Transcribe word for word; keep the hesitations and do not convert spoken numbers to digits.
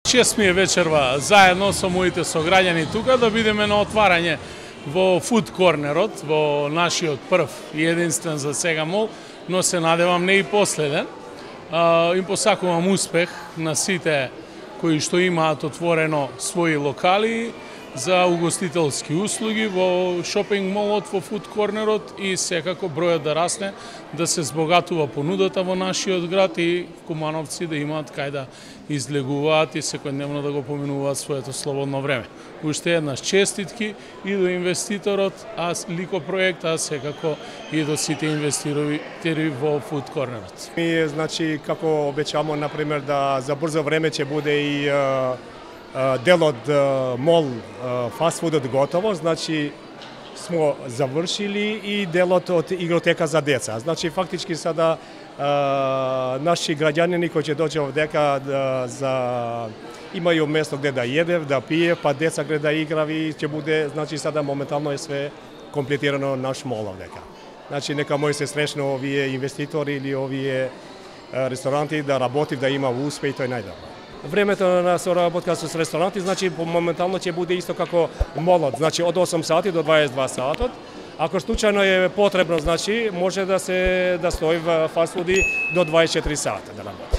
Шест ми е вечерва заедно со моите сограѓани тука да бидеме на отварање во Food Cornerот, во нашиот прв и единствен за сега мол, но се надевам не и последен. Им посакувам успех на сите кои што имаат отворено своји локали за угостителски услуги во шопинг молот, во Food Cornerот и секако бројот да расне, да се збогатува понудата во нашиот град и кумановци да имаат кај да излегуваат и секојдневно да го поминуваат своето слободно време. Уште еднаш честитки и до инвеститорот, а Лико проект, а секако и до сите инвеститори во Food Cornerот. Ми, значи, како обечамо, например, да за брзо време ќе буде и дел од мол фастфудот готово, значи смо завршили и делот од игротека за деца. Значи фактички сада наши граѓани кои ќе дојде овдека да, за имају место где да једев, да пие, па деца где да играви, ќе буде, значи сада моментално е све комплетирано наш мол овдека. Значи нека мој се срещну овие инвеститори или овие ресторанти да работи, да има успех, тој најдобро. Времето на соработка со ресторанти, значи моментално ќе буде исто како молот, значи од осум сати до дваесет и два сатот. Ако случајно е потребно, значи може да се да стои во фастфуди до дваесет и четири сата да работи.